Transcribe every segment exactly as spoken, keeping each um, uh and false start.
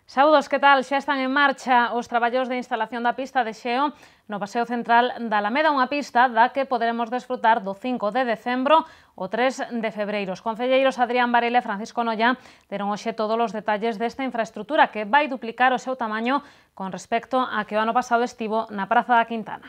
Saúdos, que tal? Xa están en marcha os traballos de instalación da pista de xeo no Paseo Central da Alameda, unha pista da que poderemos desfrutar do cinco de decembro ao tres de febreiro. Os concelleiros Adrián Varela e Francisco Noya deron hoxe todos os detalles desta infraestrutura que vai duplicar o seu tamaño con respecto a que o ano pasado estivo na Praza da Quintana.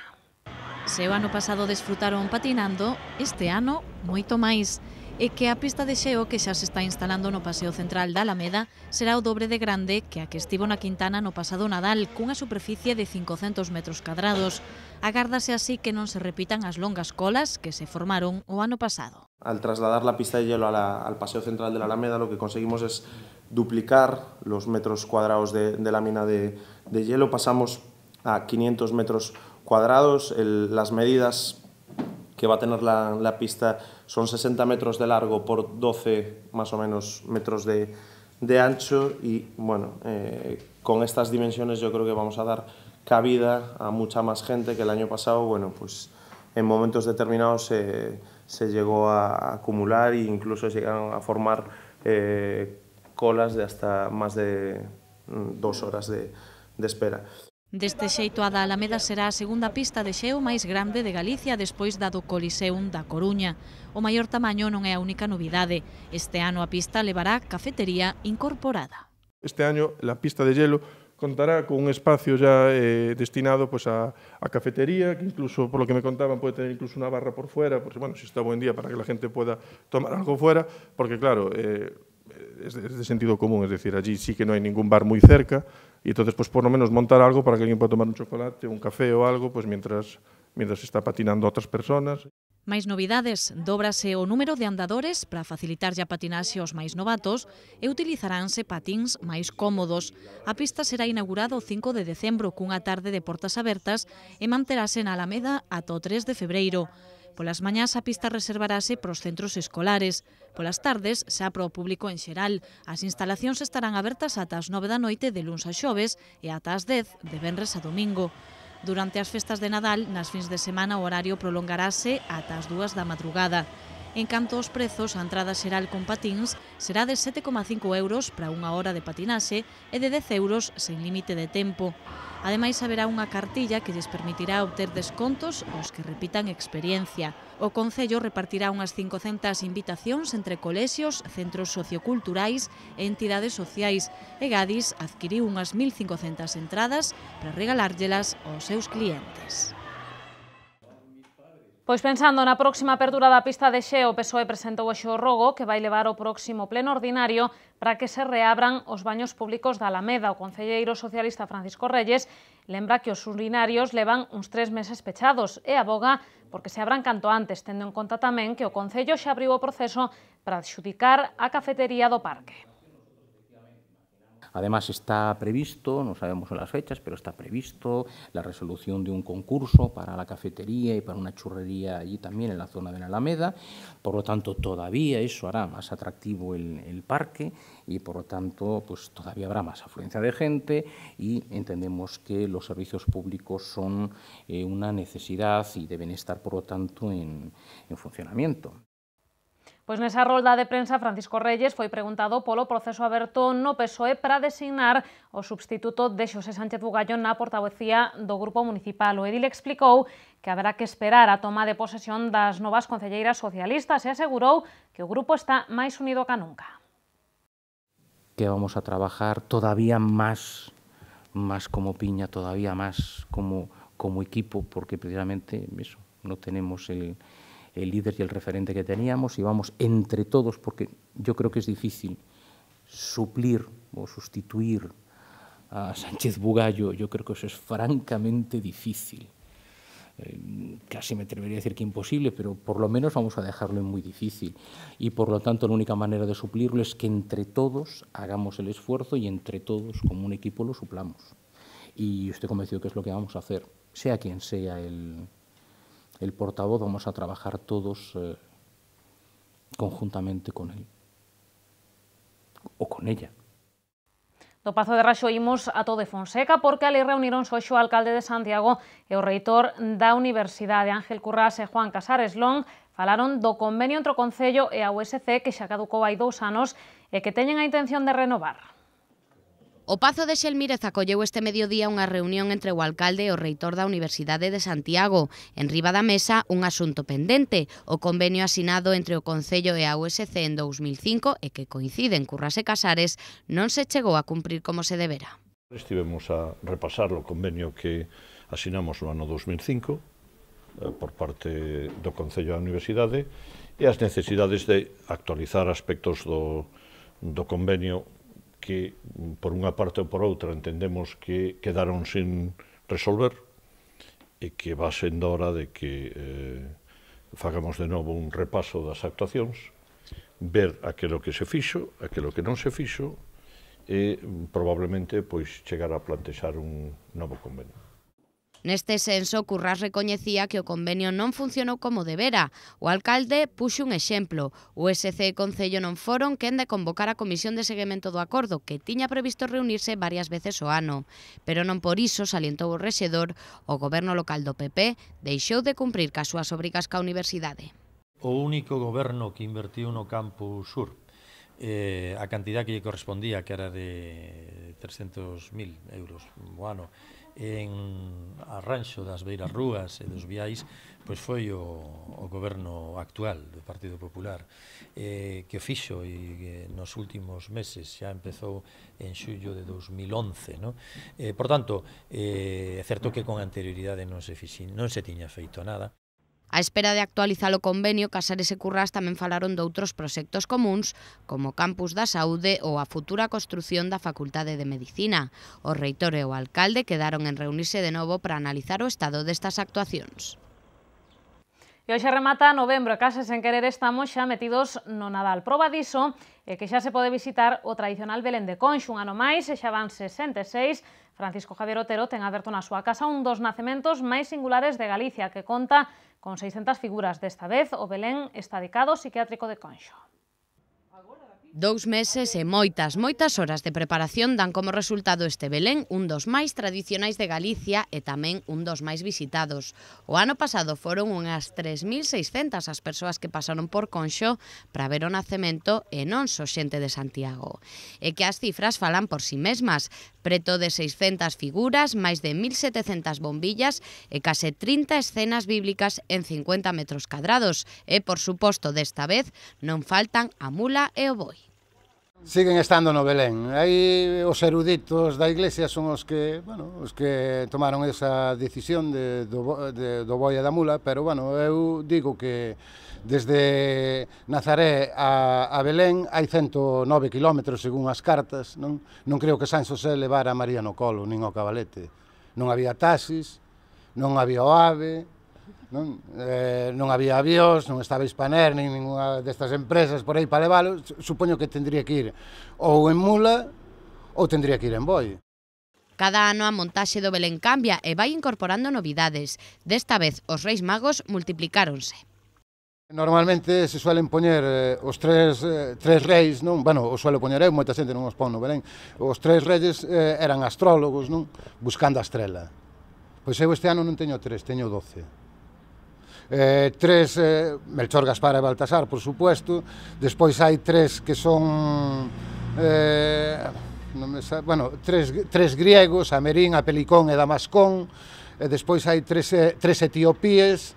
Se o ano pasado desfrutaron patinando, este ano moito máis. E que a pista de xeo que xa se está instalando no Paseo Central da Alameda será o dobre de grande que a que estivo na Quintana no pasado Nadal, cunha superficie de cincocentos metros cadrados. Agárdase así que non se repitan as longas colas que se formaron o ano pasado. Al trasladar la pista de hielo a la, al Paseo Central de la Alameda, lo que conseguimos es duplicar los metros cuadrados de, de lámina de, de hielo. Pasamos a quinientos metros cuadrados. El, las medidas que va a tener la, la pista son sesenta metros de largo por doce más o menos metros de, de ancho y bueno, eh, con estas dimensiones yo creo que vamos a dar cabida a mucha más gente que el año pasado. Bueno, pues en momentos determinados se, se llegó a acumular e incluso llegaron a formar eh, colas de hasta más de dos horas de, de espera. Deste xeito, a da Alameda será a segunda pista de xeo máis grande de Galicia despois da do Coliseum da Coruña. O maior tamaño non é a única novidade. Este ano a pista levará cafetería incorporada. Este año la pista de hielo contará con un espacio ya eh, destinado pues, a, a cafetería, que incluso, por lo que me contaban, puede tener incluso una barra por fuera, porque bueno, si está buen día para que la gente pueda tomar algo fuera, porque claro, eh, es de, es de sentido común, es decir, allí sí que no hay ningún bar muy cerca, y entonces pues por lo menos montar algo para que alguien pueda tomar un chocolate, un café o algo, pues mientras, mientras está patinando a otras personas. Máis novidades, dóbrase o número de andadores para facilitarlle a patinaxe aos máis novatos e utilizaránse patins máis cómodos. A pista será inaugurada o cinco de decembro cunha tarde de portas abertas e manterase na Alameda ata o tres de febreiro. Polas mañás a pista reservarase para os centros escolares. Polas tardes, xa para o público en xeral. As instalacións estarán abertas ata as nove da noite de luns a xoves e ata as dez de venres a domingo. Durante as festas de Nadal, nas fins de semana o horario prolongarase ata as dúas da madrugada. En canto aos prezos, a entrada xeral con patins será de sete coma cinco euros para unha hora de patinaxe e de dez euros sen límite de tempo. Ademais, haberá unha cartilla que lles permitirá obter descontos aos que repitan experiencia. O Concello repartirá unhas cincocentas invitacións entre colexios, centros socioculturais e entidades sociais e Gadis adquiriu unhas mil cincocentas entradas para regalárllelas aos seus clientes. Pois pensando na próxima apertura da pista de xeo, o P S O E presentou hoxe o rogo que vai levar ao próximo pleno ordinario para que se reabran os baños públicos da Alameda. O concelleiro socialista Francisco Reyes lembra que os urinarios levan uns tres meses pechados e aboga porque se abran canto antes, tendo en conta tamén que o Concello xa abriu o proceso para adxudicar a cafetería do parque. Además está previsto, no sabemos las fechas, pero está previsto la resolución de un concurso para la cafetería y para una churrería allí también en la zona de la Alameda. Por lo tanto, todavía eso hará más atractivo el, el parque y por lo tanto pues, todavía habrá más afluencia de gente y entendemos que los servicios públicos son eh, una necesidad y deben estar por lo tanto en, en funcionamiento. Pois nesa rolda de prensa, Francisco Reyes foi preguntado polo proceso aberto no P S O E para designar o substituto de Xosé Sánchez Bugallo na portavocía do Grupo Municipal. O edil explicou que haberá que esperar a toma de posesión das novas concelleiras socialistas e asegurou que o grupo está máis unido ca nunca. Que vamos a trabajar todavía más, más como piña, todavía más como, como equipo, porque precisamente eso, no tenemos el... el líder y el referente que teníamos y vamos entre todos, porque yo creo que es difícil suplir o sustituir a Sánchez Bugallo, yo creo que eso es francamente difícil. Eh, casi me atrevería a decir que imposible, pero por lo menos vamos a dejarlo en muy difícil. Y por lo tanto la única manera de suplirlo es que entre todos hagamos el esfuerzo y entre todos como un equipo lo suplamos. Y estoy convencido que es lo que vamos a hacer, sea quien sea el... el portavoz, vamos a trabajar todos eh, conjuntamente con él o con ella. Do Pazo de Raxo imos a Todo de Fonseca porque ali reunironse hoxe o alcalde de Santiago e o reitor da Universidade. Ángel Currás e Juan Casares Long falaron do convenio entre o Concello e a U S C que xa caducou hai dous anos e que teñen a intención de renovar. O Pazo de Xelmírez acolleu este mediodía unha reunión entre o alcalde e o reitor da Universidade de Santiago. En riba da mesa, un asunto pendente, o convenio asinado entre o Concello e a U S C en dous mil cinco e que coincide en Curras e Casares non se chegou a cumprir como se debera. Estivemos a repasar o convenio que asinamos no ano dous mil cinco por parte do Concello da Universidade e as necesidades de actualizar aspectos do, do convenio que, por unha parte ou por outra, entendemos que quedaron sin resolver e que va sendo hora de que eh, fagamos de novo un repaso das actuacións, ver aquilo que se fixo, aquilo que non se fixo e probablemente pois chegar a plantexar un novo convenio. Neste senso, Currás recoñecía que o convenio non funcionou como debera. O alcalde puxo un exemplo. O U S C e Concello non foron quen de convocar a Comisión de Seguimento do Acordo, que tiña previsto reunirse varias veces o ano. Pero non por iso, salientou o rexedor, o goberno local do P P deixou de cumprir cas súas obrigas ca universidade. O único goberno que invertiu no campus sur, eh, a cantidad que lle correspondía, que era de trescentos mil euros o ano, en arranxo das beiras rúas e dos viais, pois foi o, o goberno actual do Partido Popular, eh, que o fixo e eh, nos últimos meses xa empezou en xullo de dous mil once, no? Eh, por tanto, eh, é certo que con anterioridade non se, fixi, non se tiña feito nada. A espera de actualizar o convenio, Casares e Currás tamén falaron de outros proxectos comuns, como o Campus da Saúde ou a futura construción da Facultade de Medicina. O reitor e o alcalde quedaron en reunirse de novo para analizar o estado destas actuacións. E hoxe remata novembro e case sen querer estamos xa metidos no Nadal. Proba diso é que xa se pode visitar o tradicional Belén de Conxo un ano máis e xa van sesenta e seis. Francisco Javier Otero ten aberto na súa casa un dos nacementos máis singulares de Galicia que conta con seiscentas figuras. Desta vez o Belén está dedicado ao psiquiátrico de Conxo. Dous meses e moitas, moitas horas de preparación dan como resultado este Belén, un dos máis tradicionais de Galicia e tamén un dos máis visitados. O ano pasado foron unhas tres mil seiscentas as persoas que pasaron por Conxo para ver o nacemento e non só xente de Santiago. E que as cifras falan por si mesmas, preto de seiscentas figuras, máis de mil setecentas bombillas e case trinta escenas bíblicas en cincuenta metros cadrados. E, por suposto, desta vez non faltan a mula e o boi. Siguen estando no Belén. Aí os eruditos da Iglesia son os que, bueno, os que tomaron esa decisión de, do, de, do boi e da mula, pero, bueno, eu digo que desde Nazaré a, a Belén hai ciento nove kilómetros según as cartas, non? Non creo que San Xosé levara a María no colo, nin o cabalete. Non había taxis, non había o AVE, non, eh, non había avións, non estaba Hispaner, nin ninguna destas empresas por aí para leválo. Supoño que tendría que ir ou en mula ou tendría que ir en boi. Cada ano a montaxe do Belén cambia e vai incorporando novidades. Desta vez os Reis Magos multiplicáronse. Normalmente se suelen poñer eh, os tres, eh, tres reis, non? Bueno, os suelo poñer eu, moita xente non os pon no Belén. Os tres reis eh, eran astrólogos, non? Buscando a estrela. Pois eu este ano non teño tres, teño doce. Eh, tres, eh, Melchor, Gaspar e Baltasar, por supuesto. Despois hai tres que son eh, non me sabe, bueno, tres, tres griegos, Amerin, Apelicón e Damascón. E despois hai tres, tres etiopíes.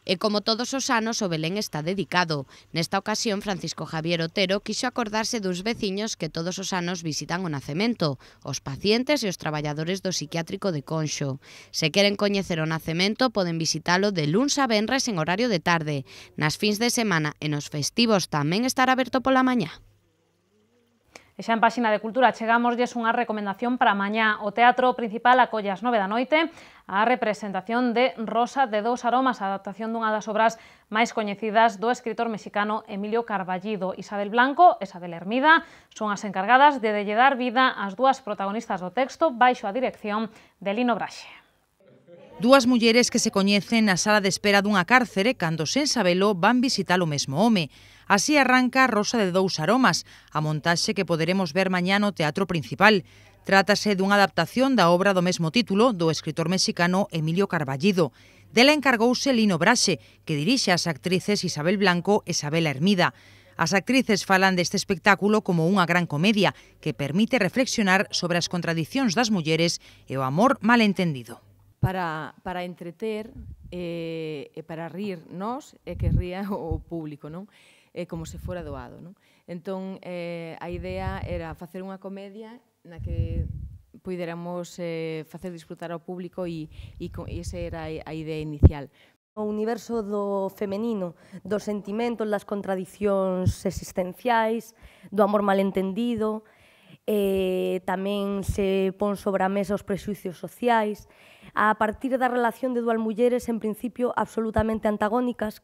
E como todos os anos, o Belén está dedicado. Nesta ocasión, Francisco Javier Otero quixo acordarse dos veciños que todos os anos visitan o nacemento, os pacientes e os traballadores do psiquiátrico de Conxo. Se queren coñecer o nacemento, poden visitalo de luns a venres en horario de tarde. Nas fins de semana e nos festivos tamén estará aberto pola mañá. E xa en páxina de Cultura chegámoslles unha recomendación para mañá. O Teatro Principal acolle ás nove da noite a representación de Rosa de dous aromas, a adaptación dunha das obras máis coñecidas do escritor mexicano Emilio Carballido. Isabel Blanco e Isabel Hermida son as encargadas de lle dar vida ás dúas protagonistas do texto baixo a dirección de Lino Braxe. Dúas mulleres que se coñecen na sala de espera dunha cárcere cando, sen sabelo, van visitar o mesmo home. Así arranca Rosa de dous aromas, a montaxe que poderemos ver mañá no Teatro Principal. Trátase dunha adaptación da obra do mesmo título do escritor mexicano Emilio Carballido. Dela encargouse Lino Braxe, que dirixe as actrices Isabel Blanco e Isabel Hermida. As actrices falan deste espectáculo como unha gran comedia que permite reflexionar sobre as contradicións das mulleres e o amor malentendido. Para, para entreter e, e para rir nós e que ría o público, non? E como se fora doado, non? Entón, eh, a idea era facer unha comedia na que puidéramos eh, facer disfrutar ao público e, e, e esa era a idea inicial. O universo do femenino, dos sentimentos, das contradicións existenciais, do amor malentendido, eh, tamén se pon sobre a mesa os prexuicios sociais, a partir da relación de dúas mulleres, en principio, absolutamente antagónicas.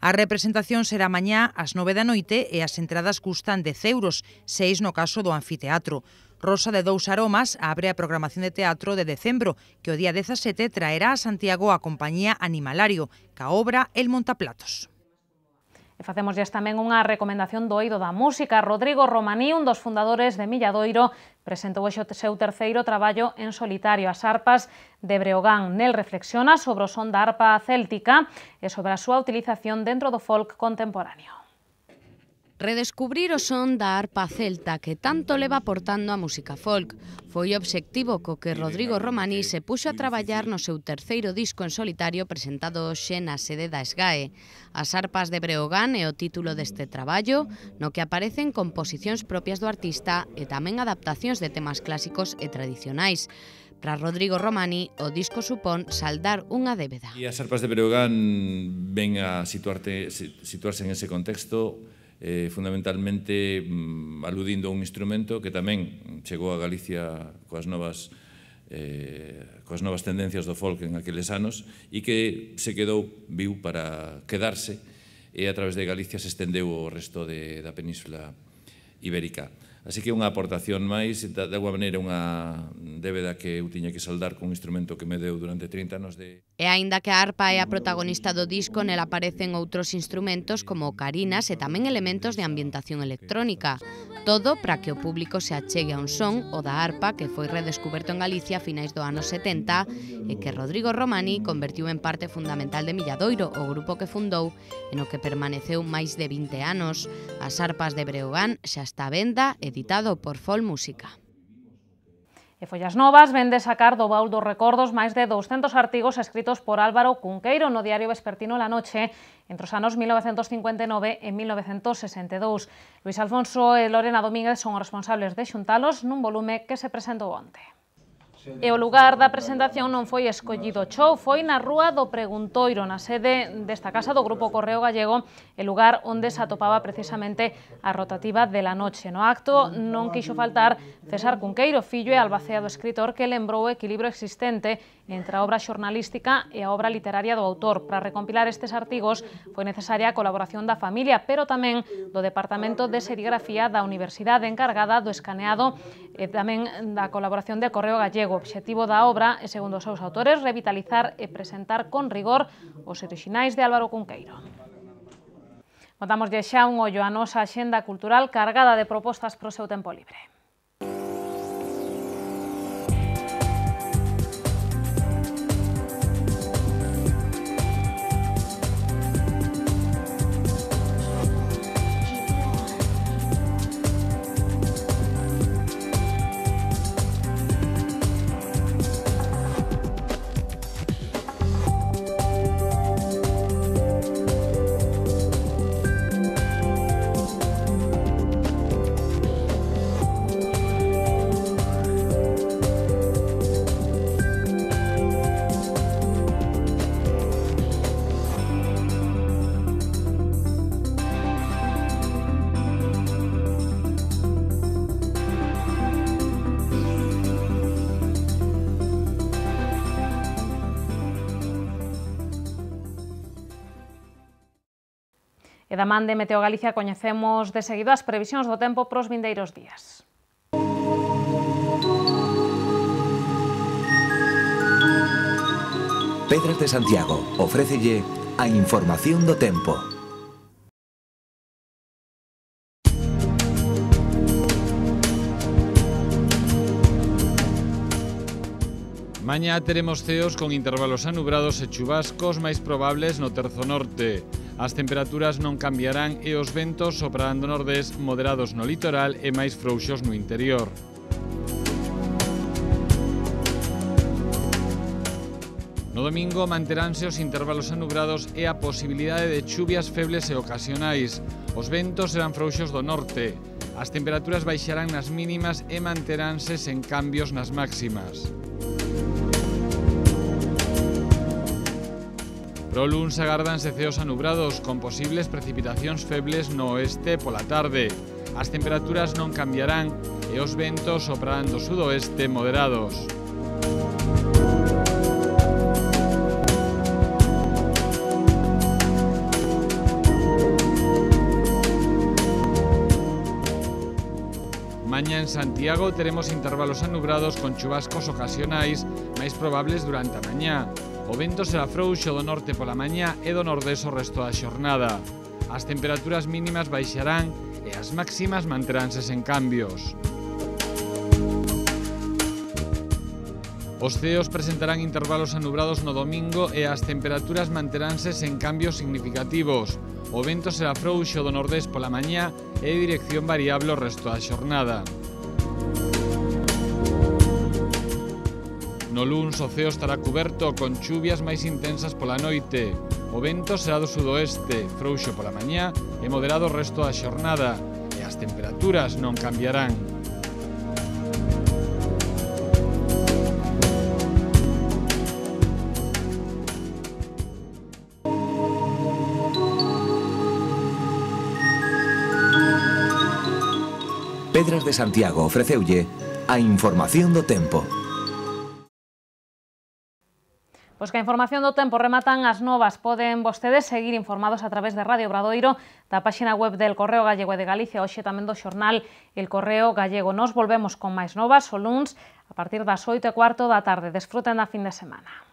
A representación será mañá ás nove da noite e as entradas custan dez euros, seis no caso do anfiteatro. Rosa de Dous Aromas abre a programación de teatro de decembro, que o día dezasete traerá a Santiago a compañía Animalario, ca obra El Montaplatos. E facemos tamén unha recomendación do eido da música. Rodrigo Romaní, un dos fundadores de Milladoiro, presentou o seu terceiro traballo en solitario, As arpas de Breogán. Nel reflexiona sobre o son da arpa céltica e sobre a súa utilización dentro do folk contemporáneo. Redescubrir o son da arpa celta que tanto leva aportando a música folk. Foi o obxectivo co que Rodrigo Romaní se puxo a traballar no seu terceiro disco en solitario presentado hoxe na sede da SGAE. As arpas de Breogán é o título deste traballo, no que aparecen composicións propias do artista e tamén adaptacións de temas clásicos e tradicionais. Para Rodrigo Romaní, o disco supón saldar unha débeda. E as arpas de Breogán ven a situarte, situarse en ese contexto, Eh, fundamentalmente mm, aludindo a un instrumento que tamén chegou a Galicia coas novas, eh, coas novas tendencias do folk en aqueles anos e que se quedou viu para quedarse e a través de Galicia se estendeu o resto de, da península ibérica. Así que unha aportación máis, de alguma maneira unha débeda que eu tiña que saldar con un instrumento que me deu durante trinta anos de... E aínda que a arpa é a protagonista do disco, nela aparecen outros instrumentos como ocarinas e tamén elementos de ambientación electrónica. Todo para que o público se achegue a un son, o da arpa, que foi redescuberto en Galicia a finais do anos setenta e que Rodrigo Romaní convertiu en parte fundamental de Milladoiro, o grupo que fundou e no que permaneceu máis de vinte anos. As arpas de Breogán xa está a venda, editado por Fol Música. E Follas Novas vende sacar do baúl dos recordos máis de douscentos artigos escritos por Álvaro Cunqueiro no diario vespertino La Noche entre os anos mil novecentos cincuenta e nove e mil novecentos sesenta e dous. Luis Alfonso e Lorena Domínguez son os responsables de xuntalos nun volume que se presentou onte. E o lugar da presentación non foi escollido chou, foi na Rúa do Preguntoiro, na sede desta casa do Grupo Correo Gallego, el lugar onde se atopaba precisamente a rotativa de La Noche. No acto non quixo faltar César Cunqueiro, fillo e albaceado escritor que lembrou o equilibrio existente entre a obra xornalística e a obra literaria do autor. Para recompilar estes artigos foi necesaria a colaboración da familia, pero tamén do Departamento de Serigrafía da Universidade encargada do escaneado e tamén da colaboración de Correo Gallego. O obxectivo da obra é, segundo os seus autores, revitalizar e presentar con rigor os orixinais de Álvaro Cunqueiro. Botamos xa un ollo a nosa axenda cultural cargada de propostas para o seu tempo libre. E da man de Meteo Galicia coñecemos de seguido as previsións do tempo pros vindeiros días. Pedras de Santiago ofrécelle a información do tempo. Mañá teremos ceos con intervalos anubrados e chubascos máis probables no terzo norte. As temperaturas non cambiarán e os ventos soprarán do nordés moderados no litoral e máis frouxos no interior. No domingo manteránse os intervalos anubrados e a posibilidade de chuvias febles e ocasionais. Os ventos serán frouxos do norte. As temperaturas baixarán nas mínimas e manteránse sen cambios nas máximas. Pro luns agárdanse ceos anubrados con posibles precipitacións febles no oeste pola tarde. As temperaturas non cambiarán e os ventos soprarán do sudoeste moderados. Mañá en Santiago teremos intervalos anubrados con chubascos ocasionais máis probables durante a mañá. O vento será frouxo do norte pola mañá e do nordés o resto da xornada. As temperaturas mínimas baixarán e as máximas manteránse sen cambios. Os ceos presentarán intervalos anubrados no domingo e as temperaturas manteránse sen cambios significativos. O vento será frouxo do nordés pola mañá e de dirección variable o resto da xornada. No luns o ceo estará cuberto con chuvias máis intensas pola noite. O vento será do sudoeste, frouxo pola mañá e moderado o resto da xornada. E as temperaturas non cambiarán. Pedras de Santiago ofreceulle a información do tempo. Pois que a información do tempo rematan as novas. Poden vostedes seguir informados a través de Radio Obradoiro, da páxina web del Correo Gallego e de Galicia, hoxe tamén do xornal El Correo Gallego. Nos volvemos con máis novas o luns a partir das oito e cuarto da tarde. Desfruten da fin de semana.